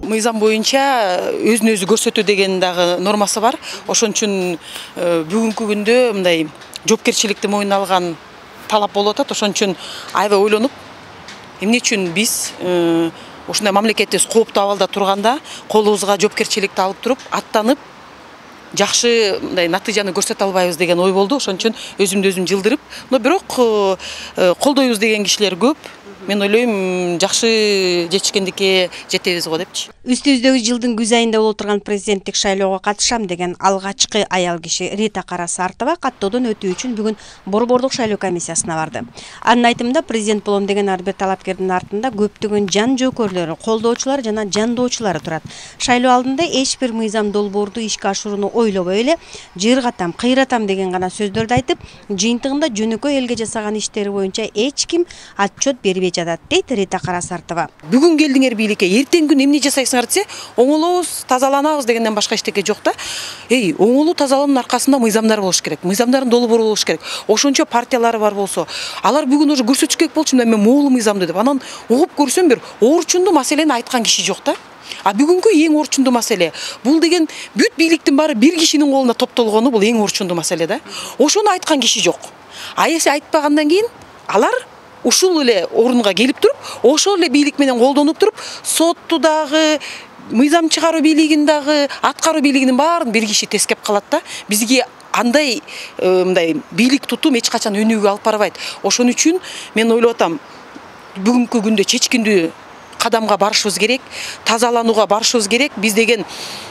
мыйзам боюнча өзүн өзү көрсөтүү деген дагы нормасы бар. Ошон үчүн бүгүнкү күндө мындай жоопкерчиликти мойнуна алган талап болуп атат. Ошон үчүн аябай ойлонуп, эмне үчүн биз ушундай мамлекетибиз кооптуу абалда турганда колубузга жоопкерчиликти алып туруп, аттанып жакшы мындай натыйжаны көрсөтө албайбыз деген ой болду. Ошон үчүн өзүмдү өзүм жылдырып, но бирок колдойбуз деген кишилер көп. Мен ойлойм, жакшы жетишкендикке жетебиз го депчи. Үстүбүздөгү жылдын күз айында болуп турган президенттик шайлоого катышам деген алгачкы аял киши Рита Кара-Сартова каттоодон өтүү үчүн бүгүн Борбордук шайлоо комиссиясына барды. Анын айтымында президент болом деген ар бир талапкердин артында көптөгөн жан жөөкөрлөрү, колдоочулар жана жандоочулары турат. Шайлоо алдында эч бир мыйзам долбоорду ишке ашырууну ойлобой эле жыргатам, кыйратам деген гана сөздөрдү айтып, жыйынтыгында жөнөкөй элге жасаган иштери боюнча эч ким отчет бербей жатат, дейт Рита Кара-Сартова. Бүгүн келдиңер бийликке, эртең күн эмне жасайсыңар десе, оңолобуз, тазаланабыз дегенден башка эчтеке жок да. Оңолуу тазалоонун аркасында мыйзамдар болуш керек. Мыйзамдардын долбоору болуш керек. Ошончо партиялары бар болсо, алар бүгүн уже көрсөтүш керек болчу, мен могул мыйзамды деп. Анан угуп көрсөм бир орчундуу маселени айткан киши жок да. А бүгүнкү эң орчундуу маселе бул деген бүт бийликтин баары бир кишинин колуна топтолгону, бул эң орчундуу маселе да. Ошону айткан киши жок. А эсе айтпагандан кийин алар ушул эле орунга келип туруп, ошол эле бийлик менен колдонуп туруп, сотту дагы, мыйзам чыгаруу бийлигин дагы, аткаруу бийлигинин баарын бир киши тескеп калат да. Бизге андай мындай бийлик тутум эч качан өнүгүүгө алып барбайт. Ошон үчүн мен ойлоп атам, бүгүнкү күндө чечкиндүү кадамга барышыбыз керек, тазаланууга барышыбыз керек. Биз деген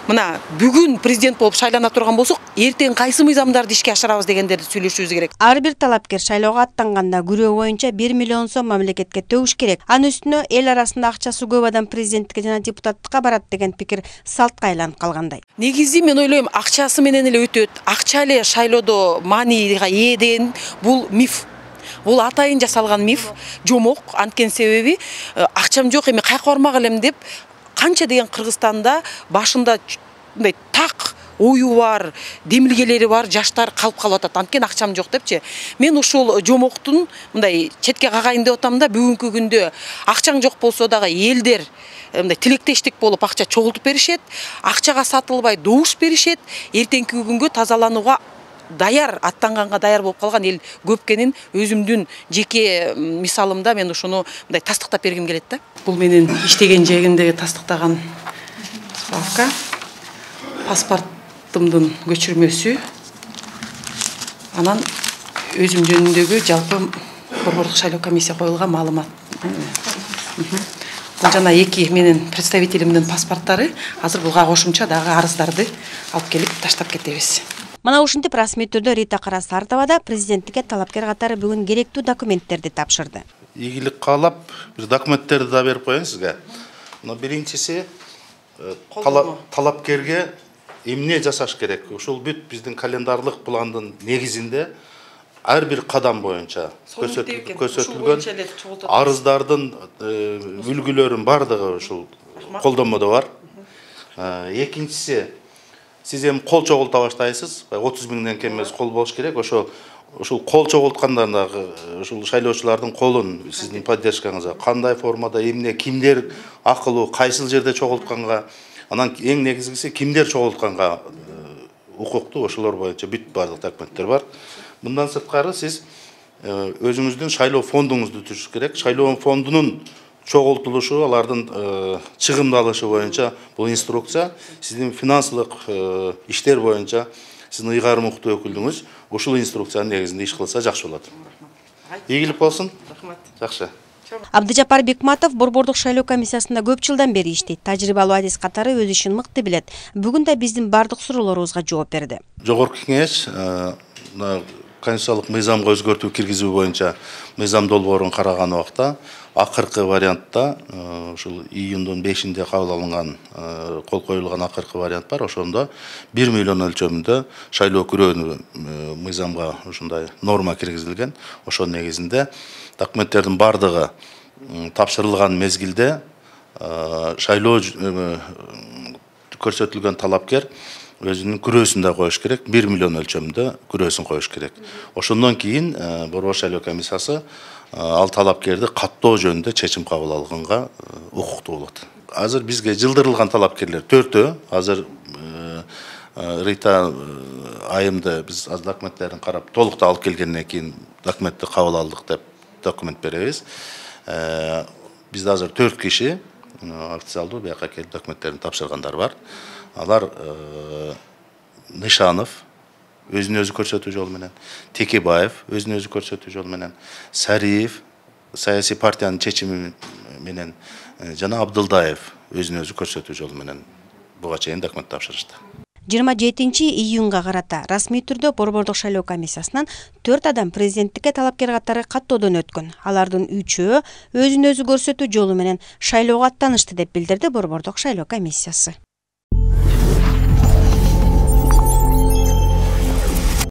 мына бүгүн президент болуп шайлана турган болсок, эртең кайсы мыйзамдарды ишке ашырабыз дегендерди сүйлөшүбүз керек. Ар бир талапкер шайлоого аттанганда күрөө боюнча 1 миллион сом мамлекетке төгүш керек. Анын үстүнө эл арасында акчасы көп адам президенттикке жана депутаттыкка барат деген пикир салтка айланып калгандай. Негизи мен ойлойм, акчасы менен эле өтөт. Акча эле шайлоодо маанига ээ деген бул миф. Бул атайын жасалган миф, жомок. Анткени себеби акчам жок, эми кайка бармак элем деп канча деген Кыргызстанда башында мындай так ою бар, демилгелери бар жаштар калып атат. Анткени акчам жок депчи. Мен ушул жомоктун мындай четке кагайын деп атам да, бүгүнкү күндө акчаң жок болсо дагы элдер мындай тилектештик болуп акча чогултуп беришет, акчага сатылбай добуш беришет. Эртеңки күнгө тазаланууга даяр, аттанганга даяр болуп калган эл көп экенин өзүмдүн жеке мисалымда мен ушуну мындай тастыктап бергим келет да. Бул менин иштеген жегимдеги тастыктаган справка, паспортумдун көчүрмөсү, анан өзүм жөнүндөгү жалпы Борбордук шайлоо комиссия коюлган маалымат. Бул жана эки менин представителимдин паспорттары. Азыр буга кошумча дагы арыздарды алып келип таштап кетебиз. Мына ушинтип расмий түрдө Рита Кара-Сартова да президенттикке талапкер катары бүгүн керектүү документтерди тапшырды. Ийгилик каалап, бир документтерди да берип коеюн сизге. Мына биринчиси талапкерге эмне жасаш керек? Ушул бүт биздин календарлык пландын негизинде ар бир кадам боюнча көрсөтүлгөн арыздардын үлгүлөрүнүн бардыгы ушул колдонмодо бар. Экинчиси, сиз эми кол чогулта баштайсыз. 30 миңден кем эмес кол болуш керек. Ушул кол чогулткандан дагы ушул шайлоочулардын колун сиздин поддержкаңызга кандай формада, эмне, кимдер акылуу, кайсыл жерде чогултканга, анан эң негизгиси кимдер чогултканга укуктуу, ошолор боюнча бүт бардык документтер бар. Мындан сырткары сиз өзүңүздүн шайлоо фондуңузду түзүш керек. Шайлоо фондунун чогултулушу, алардын чыгымдалышы боюнча бул инструкция, сиздин финансылык иштер боюнча сиздин ыйгарым укуктуу өкүлүңүз ушул инструкциянын негизинде иш кылса жакшы болот. Ийгилик болсун. Жакшы. Абдыжапар Бекматов Борбордук шайлоо комиссиясында көп жылдан бери иштейт. Тажрыйбалуу адис катары өз ишин мыкты билет. Бүгүн да биздин бардык суроолорубузга жооп берди. Жогорку кеңеш конституциялык мыйзамга өзгөртүү киргизүү боюнча мыйзам долбоорун караган убакта акыркы вариантта ушул июндун 5-inde кабыл алынган кол коюлган акыркы вариант бар. Ошондо 1 миллион өлчөмүндө шайлоо күрөөнү мыйзамга ушундай норма киргизилген. Ошонун негизинде документтердин бардыгы тапшырылган мезгилде шайлоо көрсөтүлгөн талапкер өзүнүн күрөөсүн да коюш керек, 1 миллион өлчөмүндө күрөөсүн коюш керек. Ошондон кийин Борбор шайлоо комиссиясы ал талапкерди каттоо жөнүндө чечим кабыл алганга укуктуу болот. азыр бизге жылдырылган талапкерлер 4-тө. Азыр Рита айымды биз аз документтерин карап толуктуу алып келгенден кийин документти кабыл алдык деп документ беребиз. Бизде азыр 4 киши официалдуу бияка келип документтерин тапшыргандар бар. Алар Нышанов өзүн өзү көрсөтүү жолу менен, Текебаев өзүн өзү көрсөтүү жолу менен, Сариев саясий партиянын чечими менен жана Абдылдаев өзүн өзү көрсөтүү жолу менен буга чейин документ тапшырышты. 27-июнга карата расмий түрдө Борбордук шайлоо комиссиясынан 4 адам президенттикке талапкер катары каттоодон өткөн. Алардын 3-өө өзүн өзү көрсөтүү жолу менен шайлоого аттанышты деп билдирди Борбордук шайлоо комиссиясы.